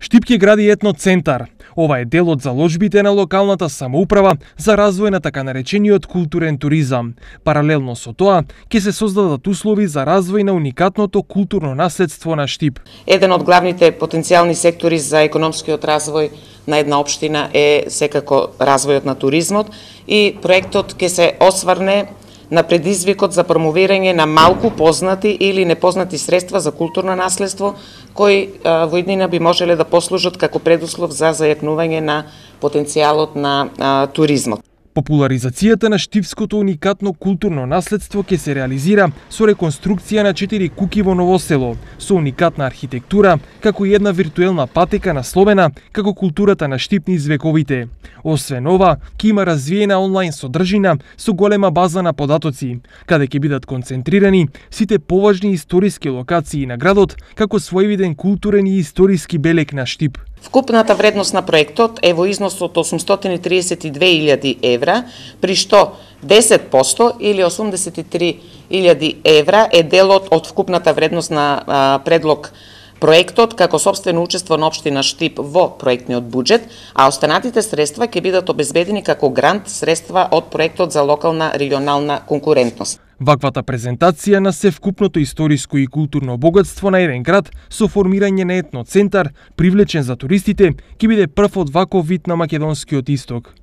Штип ќе гради етноцентар. Ова е дел од заложбите на локалната самоуправа за развој на така наречениот културен туризам. Паралелно со тоа, ќе се создадат услови за развој на уникатното културно наследство на Штип. Еден од главните потенцијални сектори за економскиот развој на една општина е секако развојот на туризмот и проектот ќе се осврне на предизвикот за промовирање на малку познати или непознати средства за културно наследство, кои во иднина би можеле да послужат како предуслов за зајакнување на потенцијалот на туризмот. Популаризацијата на штипското уникатно културно наследство ќе се реализира со реконструкција на 4 куќи во Новосело, со уникатна архитектура, како и една виртуелна патека насловена како културата на Штип низ вековите. Освен ова, ќе има развиена онлайн содржина со голема база на податоци, каде ќе бидат концентрирани сите поважни историски локации на градот, како своевиден културен и историски белег на Штип. Вкупната вредност на проектот е во износ од 832.000 евра, при што 10% или 83.000 евра е делот од вкупната вредност на предлог проектот како собствено учество на општина Штип во проектниот буџет, а останатите средства ќе бидат обезбедени како грант средства од проектот за локална регионална конкурентност. Ваквата презентација на севкупното историско и културно богатство на еден град со формирање на етноцентар, привлечен за туристите, ќе биде прв од ваков вид на македонскиот исток.